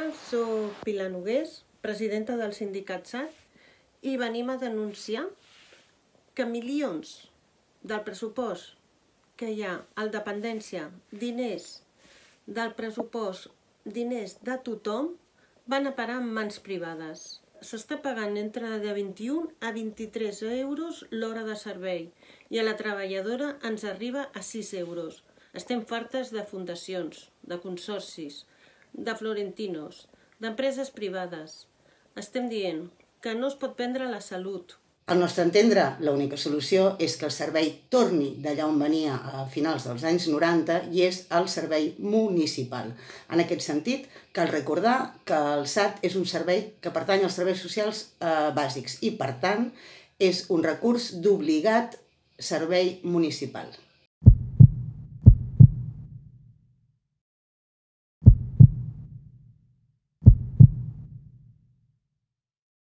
dia, soc Pilar Nogués, presidenta del sindicat SAT, i venim a denunciar que milions del pressupost que hi ha al dependència, diners del pressupost, diners de tothom, van a parar en mans privades. S'està pagant entre de 21 a 23 euros l'hora de servei i a la treballadora ens arriba a 6 euros. Estem fartes de fundacions, de consorcis, de florentinos, d'empreses privades. Estem dient que no es pot vendre la salut. Al nostre entendre, l'única solució és que el servei torni d'allà on venia a finals dels anys 90 i és el servei municipal. En aquest sentit, cal recordar que el SAT és un servei que pertany als serveis socials bàsics i, per tant, és un recurs d'obligat servei municipal.